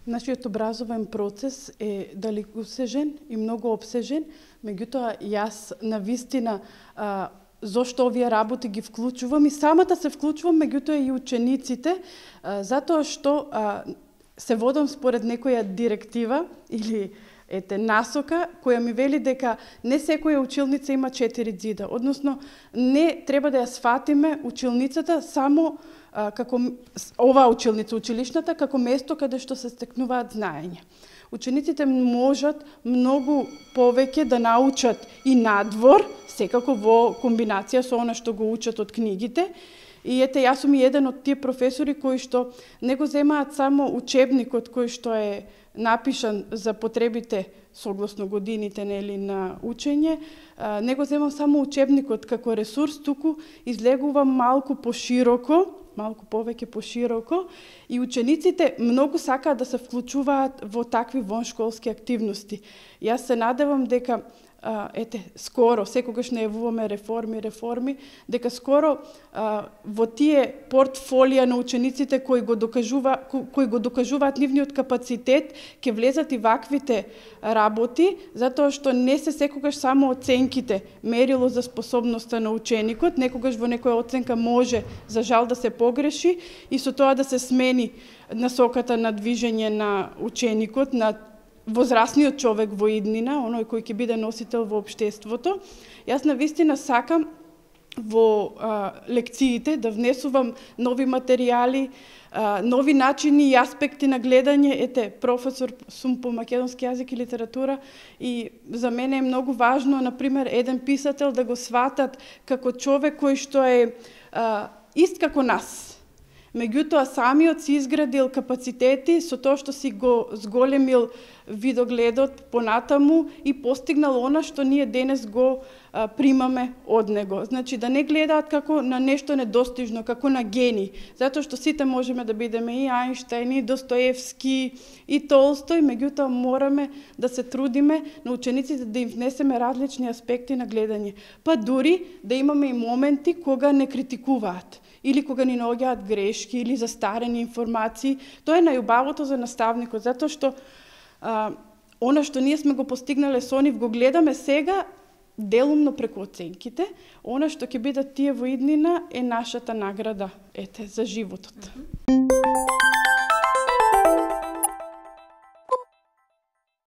Нашиот образовен процес е далекосежен и многу обсежен, меѓутоа јас навистина зошто овие работи ги вклучувам и самата се вклучувам, меѓутоа и учениците, затоа што се водам според некоја директива или насока која ми вели дека не секоја училница има 4 ѕида, односно не треба да ја сфатиме училницата само како оваа училница, училишната, како место каде што се стекнуваат знаења. Учениците можат многу повеќе да научат и надвор, секако во комбинација со она што го учат од книгите. И јас сум и еден од тие професори кои што не го земаат само учебникот кој што е напишан за потребите согласно годините на учење, не го земам само учебникот како ресурс, туку излегувам малку повеќе пошироко и учениците многу сакаат да се вклучуваат во такви воншколски активности. Јас се надевам дека скоро, секогаш најавуваме реформи, дека скоро во тие портфолија на учениците кои го докажуваат нивниот капацитет, ќе влезат и ваквите работи, затоа што не се секогаш само оценките мерило за способноста на ученикот, некогаш во некоја оценка може, за жал, да се погреши и со тоа да се смени насоката на движење на ученикот, на возрастниот човек во иднина, оној кој ќе биде носител во општеството. Јас навистина сакам во лекциите да внесувам нови материјали, нови начини и аспекти на гледање. Професор сум по македонски јазик и литература и за мене е многу важно, например, еден писател да го сватат како човек кој што е ист како нас. Меѓутоа, самиот си изградил капацитети со тоа што си го зголемил видогледот понатаму и постигнал она што ние денес го примаме од него. Значи, да не гледаат како на нешто недостижно, како на гени, затоа што сите можеме да бидеме и Ајнштајн, и Достоевски, и Толстој, меѓутоа мораме да се трудиме на учениците да им внесеме различни аспекти на гледање. Па дури да имаме и моменти кога не критикуваат, или кога ни наоѓаат грешки, или застарени информации. Тоа е најубавото за наставникот, затоа што она што ние сме го постигнале со нив го гледаме сега делумно преку оценките. Она што ќе бидат тие во иднина е нашата награда за животот.